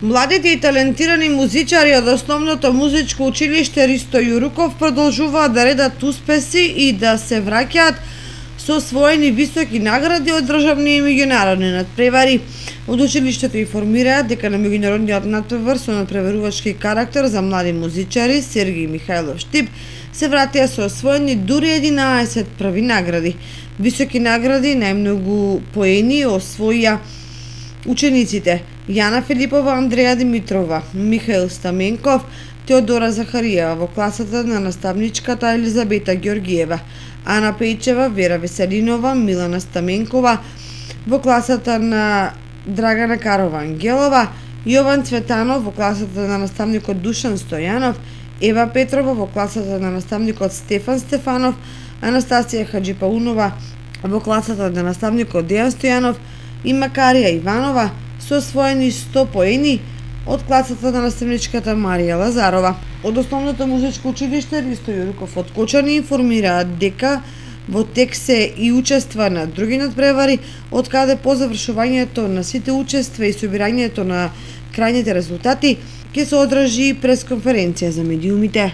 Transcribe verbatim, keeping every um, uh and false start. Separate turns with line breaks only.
Младите и талентирани музичари од Основното музичко училиште Ристо Јуруков продолжуваат да редат успеси и да се враќаат со освоени високи награди од државни и меѓународни надпревари. Од училиштето информираат дека на меѓународниот надпревар со надпреварувачки карактер за млади музичари Сергеј Михајлов Штип се вратија со освоени дури единаесет први награди. Високи награди најмногу поени освоија учениците Јана Филипова, Андреја Димитрова, Михаил Стаменков, Теодора Захариева во класата на наставничката Елизабета Ѓоргиева, Ана Пејчева, Вера Веселинова, Милана Стаменкова во класата на Драгана Карова Ангелова, Јован Цветанов во класата на наставникот Душан Стојанов, Ева Петрова во класата на наставникот Стефан Стефанов, Анастасија Хаджипаунова во класата на наставникот Дејан Стојанов и Макарија Иванова со освоени сто поени од класата на наставничката Марија Лазарова. Од Основното музичко училиште Ристо Јуруков од Кочани информираат дека во тек се и учества на други надпревари, од каде по завршувањето на сите учества и собирањето на крајните резултати ќе се одржи пресконференција за медиумите.